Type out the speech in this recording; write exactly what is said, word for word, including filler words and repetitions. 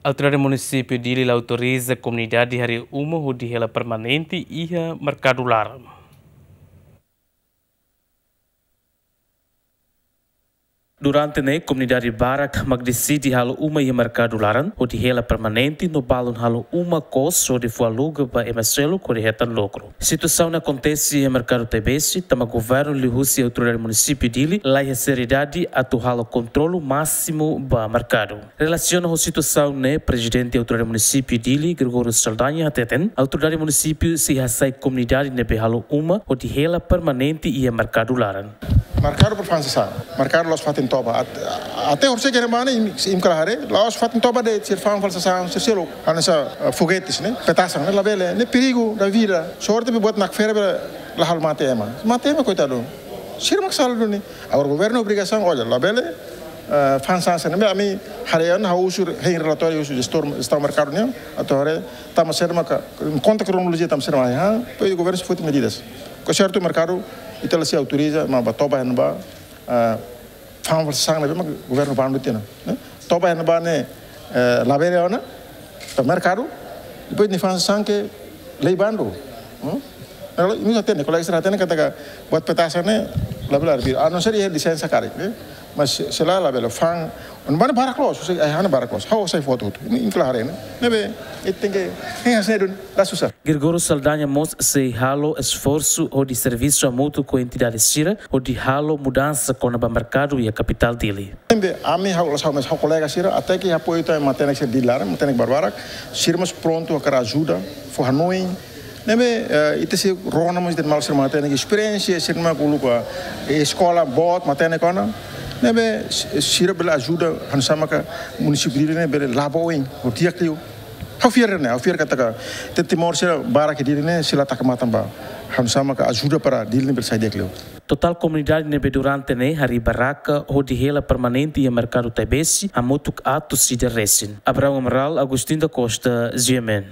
Autoridade Munisípiu Dili la autoriza komunidade harii uma hodi hela permanente iha merkadu laran. Durante ne'e, komunidade barak mak deside halo uma iha merkadu laran hodi hela permanente no balun halo uma kos hodi fó aluga ba ema seluk hodi hetan lukru. Situasaun ne'e akontese iha merkadu Taibesi, tanba governu liuhusi autoridade munisípiu Dili la iha seriedade atu halo kontrolu másimu ba merkadu. Relasiona ho situasaun ne'e, prezidente autoridade munisípiu Dili, Gregório Saldanha, hateten autoridade munisípiu sei hasai komunidade ne'ebé halo uma hodi hela permanente iha merkadu laran. Merkadu para fa'an sasán. Merkadu la'ós fatin toba. At-, até horisehik ne'ebá ne'e, imi, imi kala haree, la'ós fatin toba de'it, sira fa'an fali sasán, sira seluk. Hanesan, eh, fogetes ne'e, petasan ne'e, labele, ne'e perigu da vida. Sorte be buat nakfera be la halo mate ema. Mate ema, koitadu. Sira mak sala duni. Agora governu obrigasaun, olha, labele, eh, fa'an sasán ne'e, ami haree ona, ha'u husu hein relatóriu husi jestór, jestaun merkadu nian, atu haree, tanba sira maka, konta kronolojia tanba sira maka, ha, depois governu sei foti medidas. Ke sertu merkadu, ita la sei autoriza, mas ba toba iha ne'ebá, eh, fa'an fali sasán ne'ebé mak governu bandu tiha ona, ne'e? Toba iha ne'ebá ne'e, eh, labele ona, ba merkadu, depois nia fa'an sasán ke lei bandu. Hmm? Lalu, imi hatene, kolega sira hatene katak buat petasan ne'e labele arbiru. A não ser iha lisensa karik, ne'e? Mas se, se la, labele fa'an. Ne'ebá ne'e barak loos, se ai hana barak loos. Ha'u hasai foto hotu. Imi, imi kala haree ne'e. Ne'ebé, ita tenke, hein hanesan ne'e duni, la susar. Gregório Saldanha mós sei halo esforsu hodi servisu hamutuk ho entidade sira hodi halo mudansa kona-ba merkadu iha kapitál Dili. Ne'ebé, ami ha'u, la'ós ha'u, mas ha'u kolega sira, até ke apoiu tan matenek sira Dili laran, matenek barbarak, sira mós prontu hakarak ajuda, fó hanoin. Ne'ebé, eh, ita sei rona mós de'it maluk sira matenek esperiénsia, sira mak uluk, eh, eskola boot, matenek ona. Ne'ebé, si-, sira bele ajuda, hanesan maka munisípiu Dili ne'e bele la'o ba oin, ho di'ak liu. Ha'u fiar ne'e, ha'u fiar katak, ita Timor sira barak iha Dili ne'e, sira la taka matan ba. Hanesan maka ajuda para Dili ne'e bele sai di'ak liu. Totál komunidade ne'ebé durante ne'e harii barraka hodi hela permanente iha merkadu Taibesi, hamutuk atus ida resin. Abraão Amaral, Agostinho da Costa, G M N.